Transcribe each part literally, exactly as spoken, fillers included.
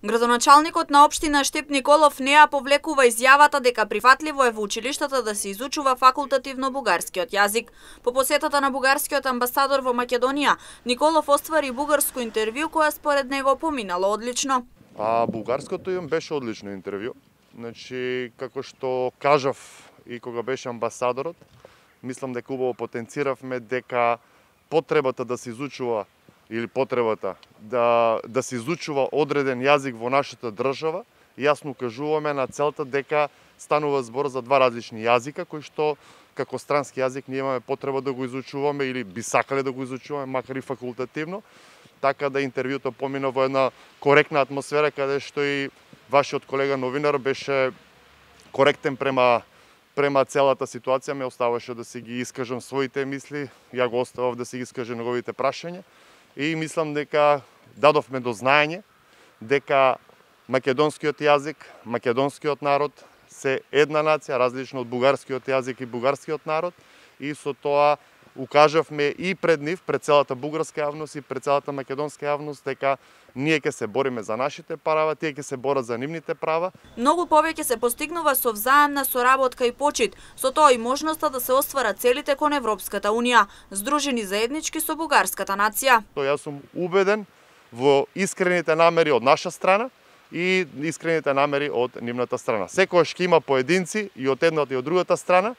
Градоначалникот на општина Штип Николов не ја повлекува изјавата дека прифатливо е во училиштата да се изучува факултативно бугарскиот јазик. По посетата на бугарскиот амбасадор во Македонија, Николов оствари бугарско интервју која според него поминало одлично. А бугарското им беше одлично интервју. Значи, како што кажав и кога беше амбасадорот, мислам дека убаво потенциравме дека потребата да се изучува или потребата да, да се изучува одреден јазик во нашата држава, јасно кажуваме на целта дека станува збор за два различни јазика, кои што како странски јазик ние имаме потреба да го изучуваме или би сакале да го изучуваме, макар и факултативно, така да интервјуто помина во една коректна атмосфера, каде што и вашиот колега новинар беше коректен према према целата ситуација, ме оставаше да си ги искажам своите мисли, ја го оставав да си ги искаже неговите прашања. И мислам дека дадовме до знаење дека македонскиот јазик, македонскиот народ се една нација, различно од бугарскиот јазик и бугарскиот народ, и со тоа укажавме и пред нив, пред целата бугарска јавност и пред целата македонска јавност дека ние ќе се бориме за нашите права, тие ќе се борат за нивните права. Многу повеќе се постигнува со взаемна соработка и почит, со тоа и можноста да се остварат целите кон Европската унија, здружени заеднички со бугарската нација. Јас сум убеден во искрените намери од наша страна и искрените намери од нивната страна. Секогаш ќе има поединци и од едната и од другата страна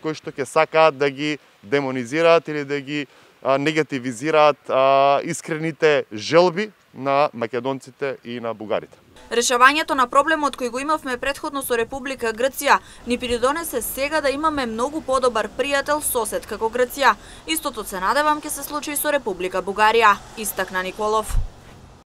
кои што ќе сакаат да ги демонизираат или да ги а, негативизираат а, искрените желби на македонците и на бугарите. Решавањето на проблемот кој го имавме претходно со Република Грција ни придонесе сега да имаме многу подобар пријател сосед како Грција. Истото се надевам ќе се случи и со Република Бугарија, истакна Николов.